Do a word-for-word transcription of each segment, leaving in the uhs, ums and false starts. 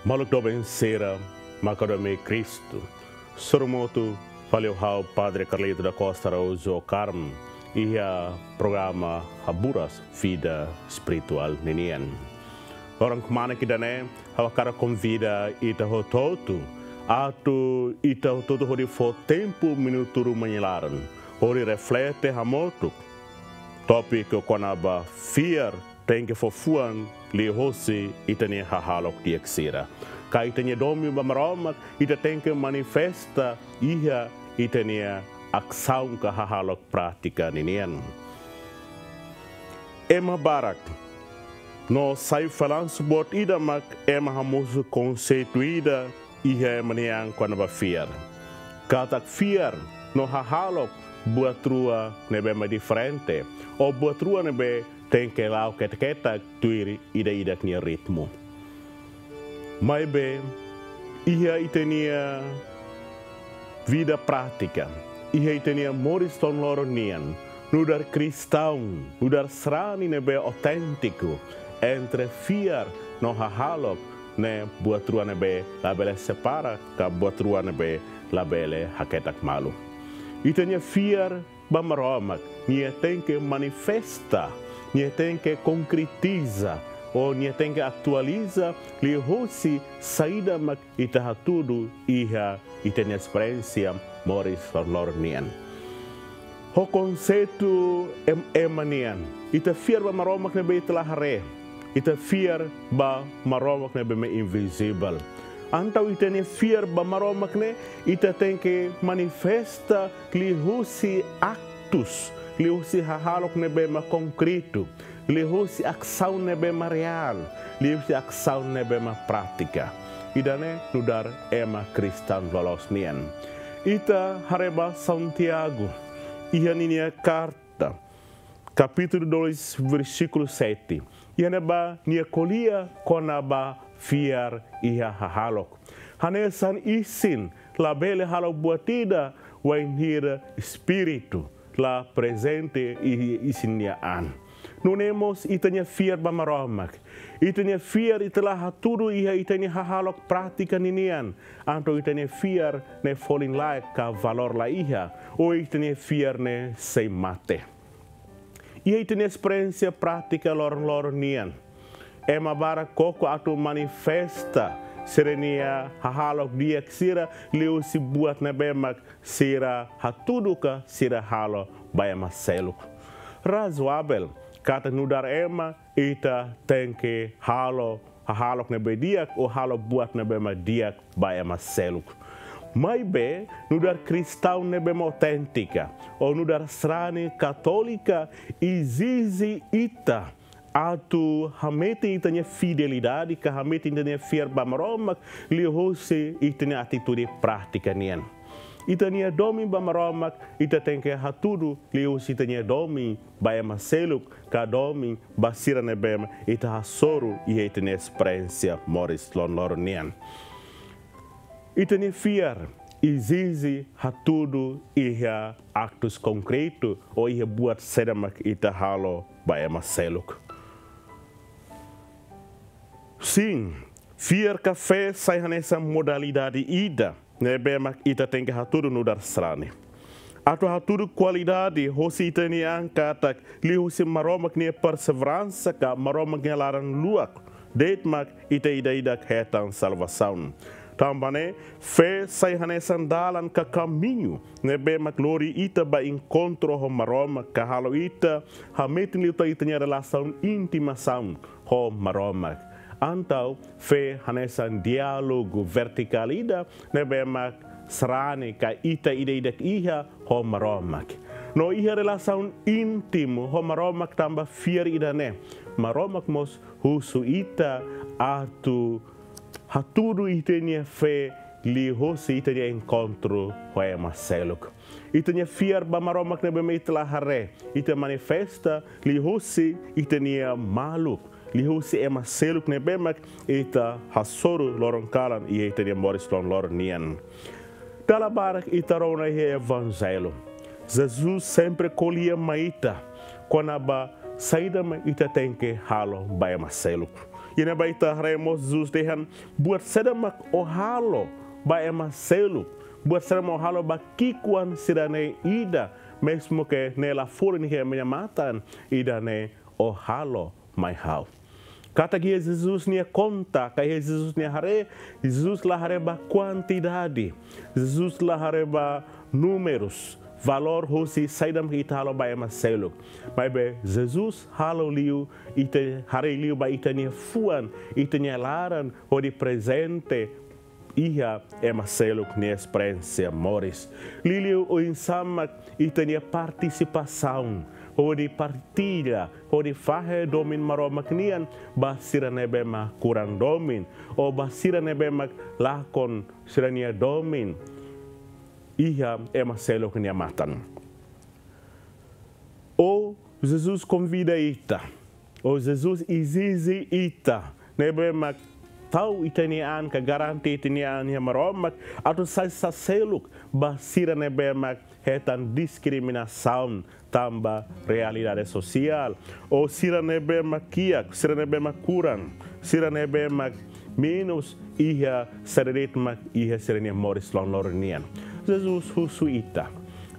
Maluk doben sira, maka doben Kristu. Sorumutu fali ho ha'u Padre Carlito da Costa Araújo Carmo, iha programa Haburas Vida Espirituál ninian. Loron kmanek ida-ne'e, ha'u hakarak konvida ita hotu-hotu, atu ita hotu-hotu hodi fó tempu minutu ruma nia laran, hodi reflete hamutuk tópiku kona-ba fiar tenke fó fuan liuhosi ita-nia hahalok di'ak sira. Ka ita-nia domin ba Maromak, ita tenke manifesta iha ita-nia asaun ka hahalok prátika ninian. Ema barak no sai felansu boot ida mak ema hamosu konseitu ida iha ema nian kona-ba fiar. Katak fiar no hahalok buat rua ne'ebé mak diferente, ou buat rua ne'ebé tenke la'o ketak-ketak tuir ida-idak nia ritmu. Maibé, iha ita-nia vida prátika, iha ita-nia moris loron-loron nian, nu'udar kristaun, nu'udar sarani ne'ebé oténtiku, entre fiar no hahalok ne'e buat rua ne'ebé labele separa, ka buat rua ne'ebé labele haketak malu. Ita-nia fiar ba Maromak, nia tenke manifesta, nia tenke konkretiza, ou nia tenke atualiza liuhosi saida mak ita hatudu iha ita-nia esperiénsia moris loron-loron nian. Ho konseitu em-, ema nian, ita fiar ba Maromak ne'ebé ita la haree, ita fiar ba Maromak ne'ebé mak invizivel. Entaun ita-nia fiar ba Maromak ne'e, ita tenke manifesta liuhosi aktus, liuhosi hahalok ne'ebé mak konkretu, liuhosi asaun ne'ebé mak reál, liuhosi asaun ne'ebé mak prátika. Ida-ne'e nu'udar ema kristaun loloos nian. Ita haree ba Santiago, iha ninia karta, kapítulu dois, versíkulu sete. Iha ne'ebá nia ko'alia kona-ba fiar iha hahalok. Hanesan isin labele halo buat ida wainhira Espíritu la prezente iha isin nia an. Nune'e mós ita-nia fiar ba Maromak. Ita-nia fiar ita la hatudu iha ita-nia hahalok prátika ninian. Entaun ita-nia fiar ne'e folin laek ka valór la iha. Ou ita-nia fiar ne'e sei mate. Iha ita-nia esperiénsia prátika loron-loron nian, ema barak koko atu manifesta sira-nia hahalok di'ak sira liuhosi buat ne'ebé mak sira hatudu ka sira halo ba ema seluk. Razoavel katak nu'udar ema ita tenke halo hahalok ne'ebé di'ak, ou halo buat ne'ebé mak di'ak ba ema seluk. Maibé, nu'udar kristaun ne'ebé mak oténtika, ou nu'udar sarani katólika, ezije ita atu hametin ita-nia fidelidade, ka hametin ita-nia fiar ba Maromak, liuhosi ita-nia atitude prátika nian. Ita-nia domin ba Maromak, ita tenke hatudu liuhosi ita-nia domin ba ema seluk, ka domin ba sira ne'ebé mak ita hasoru iha ita-nia esperiénsia moris loron-loron nian. Ita-nia fiar ezije hatudu iha aktus konkretu, ou iha buat saida mak ita halo ba ema seluk. Sin, fiar ka fé sai hanesan modalidade ida ne'ebé mak ita tenke hatudu nu'udar sarani. Atu hatudu kualidade hosi ita-nia an katak liuhosi Maromak nia perseveransa ka Maromak nia laran-luak de'it mak ita ida-idak hetan salvasaun. Tanba ne'e, fé sai hanesan dalan ka kamiñu ne'ebé mak lori ita ba enkontru ho Maromak ka halo ita hametin liután ita-nia relasaun intimasaun ho Maromak. Entaun, fé hanesan diálogu vertikál ida ne'ebé mak sarani ka ita ida-idak iha ho Maromak. No iha relasaun íntimu ho Maromak tanba fiar ida-ne'e, Maromak mós husu ita atu hatudu ita-nia fé liuhosi ita-nia enkontru ho ema seluk. Ita-nia fiar ba Maromak ne'ebé mak ita la haree, ita manifesta liuhosi ita-nia maluk, liuhosi ema seluk ne'ebé mak ita hasoru loron kalan iha ita-nia moris loron-loron nian. Dala barak ita rona iha Evanjellu, Jesus sempre ko'alia mai ita kona-ba saida mak ita tenke halo ba ema seluk. Iha ne'ebá ita haree mós Jesus dehan: "Buat saida mak ó halo ba ema seluk, buat saida mak ó halo ba ki'ikoan sira-ne'e ida, mezmu ke ne'e la folin iha ema nia matan, ida-ne'e ó halo mai ha'u." Katak iha Jesus nia konta, ka iha Jesus nia haree, Jesus la haree ba kuantidade, Jesus la haree ba númerus, valór hosi saida mak ita halo ba ema seluk. Maibé Jesus halo liu, ita haree liu ba ita-nia fuan, ita-nia laran, hodi prezente iha ema seluk nia esperiénsia moris. Liuliu oinsá mak ita-nia partisipasaun hodi partilla, hodi fahe domin Maromak nian ba sira ne'ebé mak kurang domin, ou ba sira ne'ebé mak lakon sira-nia domin iha ema seluk nia matan. Ou Jesus konvida ita, ou Jesus ezije ita ne'ebé mak tau ita-nia an ka garante ita-nia an iha Maromak, atu sai saseluk ba sira ne'ebé mak hetan diskriminasaun tanba realidade sosiál, ou sira ne'ebé mak kiak, sira ne'ebé mak kurang, sira ne'ebé mak menus iha saida de'it mak iha sira-nia moris loron-loron nian. Jesus husu ita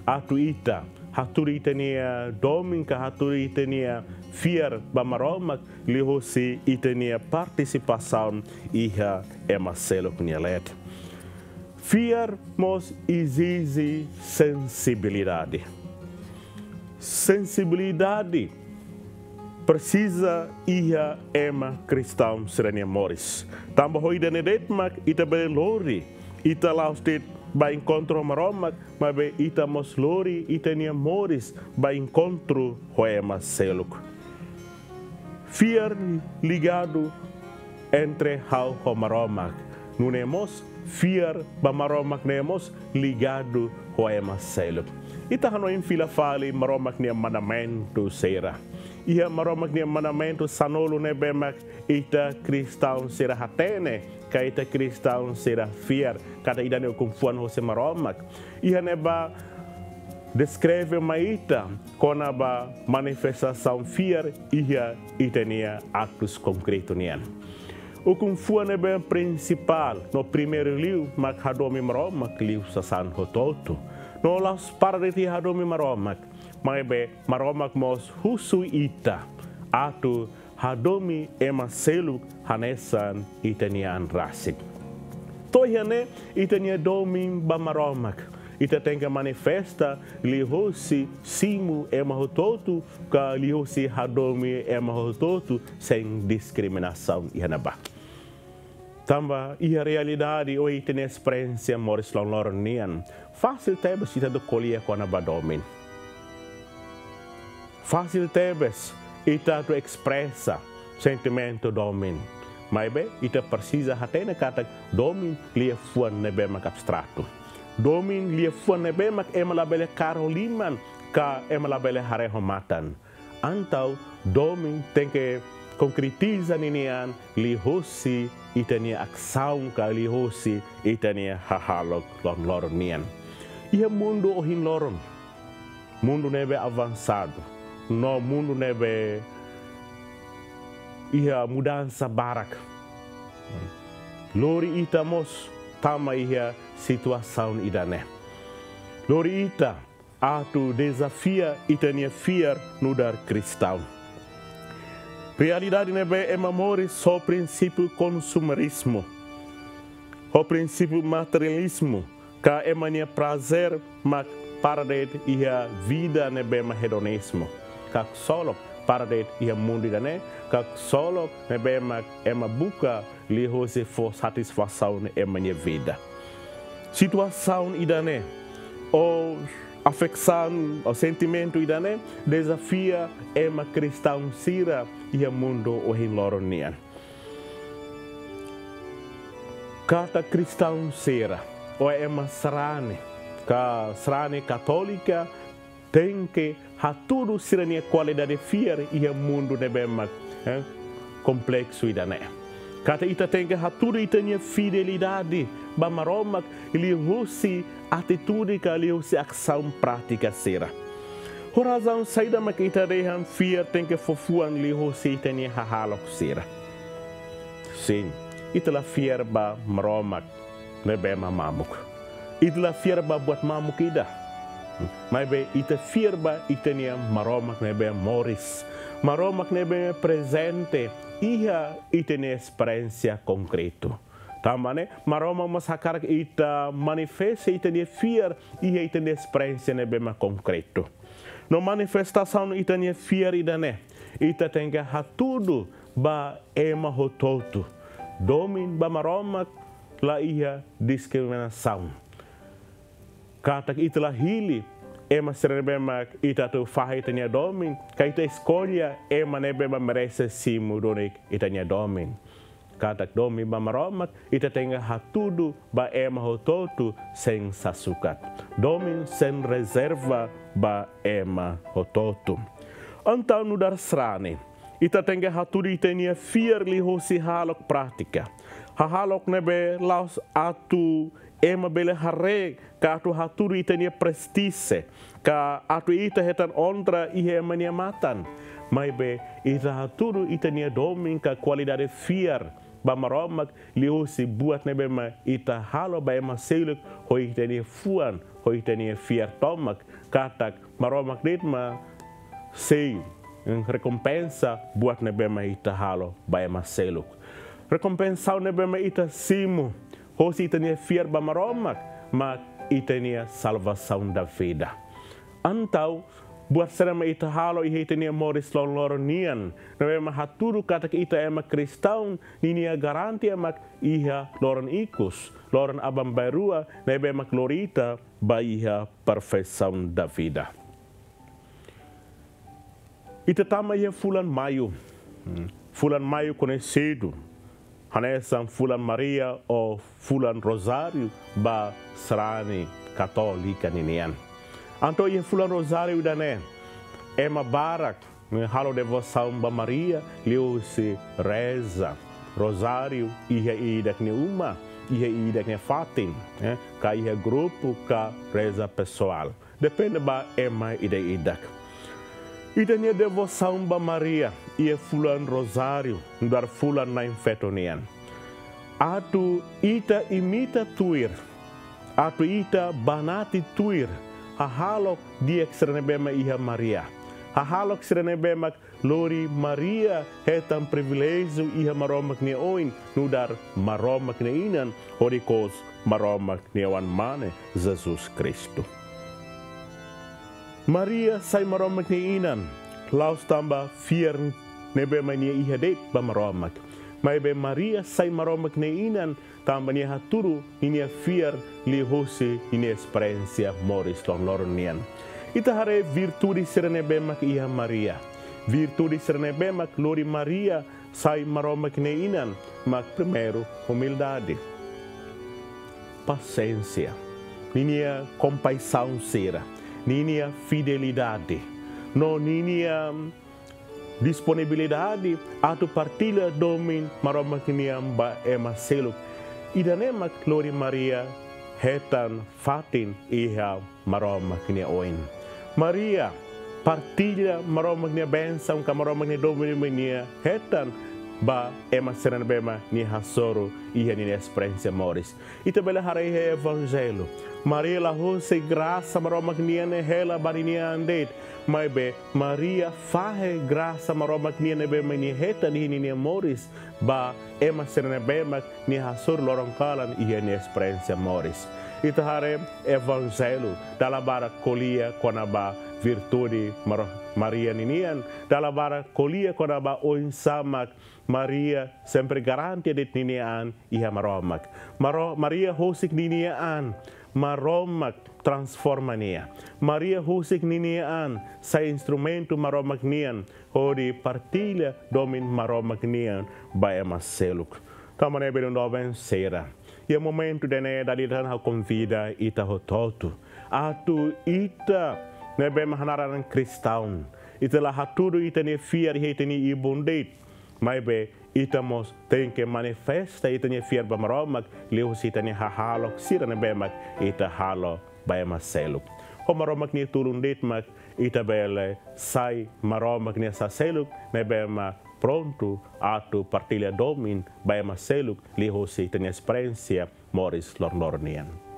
atu ita hatudu ita-nia domin ka hatudu ita-nia fiar ba Maromak liuhosi ita-nia partisipasaun iha ema seluk nia leet. Fiar mós ezije sensibilidade. Sensibilidade presiza iha ema kristaun sira-nia moris. Tanba ho ida-ne'e de'it mak ita bele lori ita la'ós de'it ba enkontru Maromak, maibé ita mós lori ita-nia moris ba enkontru ho ema seluk. Fiar ligadu entre ha'u ho Maromak. Nune'e mós fiar ba Maromak ne'e mós ligadu ho ema seluk. Ita hanoin fila fali Maromak nia mandamentu sira. Iha Maromak nia mandamentu sanulu ne'ebé mak ita kristaun sira hatene, ka ita kristaun sira fiar katak ida-ne'e ukun-fuan hosi Maromak. Iha ne'ebá deskreve mai ita kona-ba manifestasaun fiar iha ita-nia aktus konkretu nian. Ukun-fuan ne'ebé prinsipál no primeiru liu mak hadomi Maromak liu sasán hotu-hotu. No la'ós para de'it iha hadomi Maromak, maibé Maromak mós husu ita atu hadomi ema seluk hanesan ita-nia an rasik. To'o iha ne'e ita-nia domin ba Maromak ita tenke manifesta liuhosi simu ema hotu-hotu ka liuhosi hadomi ema hotu-hotu sein diskriminasaun iha ne'ebá. Tanba iha realidade ou ita-nia esperiénsia moris loron-loron nian, fasil tebes ita atu ko'alia kona-ba domin. Fasil tebes ita atu espresa sentimentu domin. Maibé ita presiza hatene katak domin liafuan ne'ebé mak abstratu. Domin liafuan ne'ebé mak ema labele kaer ho liman ka ema labele haree ho matan. Entaun domin tenke konkretiza ninia an liuhosi ita-nia asaun ka liuhosi ita-nia hahalok loron-loron nian. Iha mundu ohin loron, mundu ne'ebé avansadu, no mundu ne'ebé iha mudansa barak, lori ita mós tama iha situasaun ida-ne'e. Lori ita atu dezafia ita-nia fiar nu'udar kristaun. Realidade ne'ebé ema moris ho prinsípiu konsumerizmu, ho prinsípiu materializmu, ka ema nia prazer mak para de'it iha vida ne'ebé mak hedonizmu, ka ksolok para de'it iha mundu ida-ne'e, ka ksolok ne'ebé mak ema buka liuhosi fó satisfasaun ema nia vida. Situasaun ida-ne'e, ou afeksaun, ou sentimentu ida-ne'e, dezafia ema kristaun sira iha mundu ohin loron nian. Katak kristaun sira, ou ema sarani, ka sarani katólika, tenke hatudu sira-nia kualidade fiar iha mundu ne'ebé mak, eh, kompleksu ida-ne'e. Katak ita tenke hatudu ita-nia fidelidade ba Maromak liuhusi atitude ka liuhusi asaun prátika sira. Ho razaun saida mak ita dehan fiar tenke fó fuan liuhusi ita-nia hahalok sira? Sin, ita la fiar ba Maromak ne'ebé mak mamuk. Ita la fiar ba buat mamuk ida. Maibé ita fiar ba ita-nia Maromak ne'ebé moris. Maromak ne'ebé prezente iha ita-nia esperiénsia konkretu. Tanba ne'e, Maromak mós hakarak ita manifesta ita-nia fiar iha ita-nia esperiénsia ne'ebé mak konkretu. No manifestasaun ita-nia fiar ida-ne'e, ita tenke hatudu ba ema hotu-hotu. Domin ba Maromak la iha diskriminasaun. Katak ita la hili ema sira ne'ebé mak ita atu fahe ita-nia domin, ka ita eskolla ema ne'ebé mak merese simu duni ita-nia domin. Katak domin ba Maromak, ita tenke hatudu ba ema hotu-hotu sein sasukat. Domin sein rezerva ba ema hotu-hotu. Entaun nu'udar sarani, ita tenke hatudu ita-nia fiar liuhusi hahalok prátika. Hahalok ne'ebé la'ós atu ema bele haree ka atu hatudu ita-nia prestije, ka atu ita hetan onra iha ema nia matan. Maibé ita hatudu ita-nia domin ka kualidade fiar ba Maromak liuhusi buat ne'ebé mak ita halo ba ema seluk ho ita-nia fuan, ho ita-nia fiar tomak, katak Maromak de'it mak sei, mm, rekompensa buat ne'ebé mak ita halo ba ema seluk. Rekompensaun ne'ebé mak ita simu hosi ita-nia fiar ba Maromak, mak ita-nia salvação da vida. Entaun, buat saida mak ita halo iha ita-nia moris loron-loron nian, ne'ebé mak hatudu katak ita ema kristaun, ninia garantia mak iha loron ikus, loron aban-bainrua, ne'ebé mak lori ita ba iha perfeição da vida. Ita tama iha fulan Maiu. Hmm. Fulan Maiu koñesidu hanesan fulan Maria ou fulan Rozáriu ba sarani katólika ninian. Entaun iha fulan Rozáriu ida-ne'e, ema barak ne'e halo devosaun ba Maria liuhusi reza Rozáriu iha ida-idak nia uma, iha ida-idak nia fatin, eh, ka iha grupu ka reza pesoál. Depende ba ema ida-idak. Ita-nia devosaun ba Maria iha fulan Rozáriu, nu'udar fulan na'in-feto nian. Atu ita imita tuir, atu ita banati tuir hahalok di'ak sira ne'ebé mak iha Maria. Hahalok sira ne'ebé mak lori Maria hetan priviléjiu iha Maromak nia oin, nu'udar Maromak nia inan, hodi kous Maromak nia Oan-Mane, Jesus Kristu. Maria sai Maromak nia inan, la'ós tanba fiar ne'ebé mak nia iha de'it ba Maromak. Maibé Maria sai Maromak nia inan, tanba nia hatudu ninia fiar liuhusi ninia esperiénsia moris loron-loron nian. Ita haree virtude sira ne'ebé mak iha Maria. Virtude sira ne'ebé mak lori Maria sai Maromak nia inan, mak primeiru, umildade. Pasiénsia. Ninia kompaixaun sira. Ninia fidelidade. No ninia disponibilidade atu partilla domin Maromak nian ba ema seluk. Ida-ne'e mak lori Maria hetan fatin iha Maromak nia oin. Maria partilla Maromak nia bensaun ka Maromak nia domin ne'ebé nia hetan ba ema sira ne'ebé mak nia hasoru iha ninia esperiénsia moris. Ita bele haree iha Evanjellu. Maria la husik grasa Maromak nian ne'e hela ba ninia an de'it. Maibé Maria fahe grasa Maromak nian ne'ebé mak nia hetan iha ninia moris ba ema sira ne'ebé mak nia hasoru loron kalan iha nia esperiénsia moris. Ita haree Evanjellu, dala barak ko'alia kona-ba virtude Maro-, Maria ninian, dala barak ko'alia kona-ba oinsá mak Maria sempre garante de'it ninia an iha Maromak. Maro-, Maria husik ninia an, Maromak transforma nia. Maria husik ninia an, sai instrumentu Maromak nian, hodi partilla domin Maromak nian ba ema seluk. Tanba ne'e belun doben sira, Iha momentu ida-ne'e dala ida tan ha'u konvida ita hotu-hotu atu ita ne'ebé mak hanaran kristaun, ita la hatudu ita-nia fiar iha ita-nia ibun de'it, maibé ita mós tenke manifesta ita-nia fiar ba Maromak liuhusi ita-nia hahalok sira ne'ebé mak ita halo ba ema seluk. Ho Maromak nia tulun de'it mak ita bele sai Maromak nia sasán seluk ne'ebé mak prontu atu partilla domin ba ema seluk liuhusi ita-nia esperiénsia moris loroloron nian.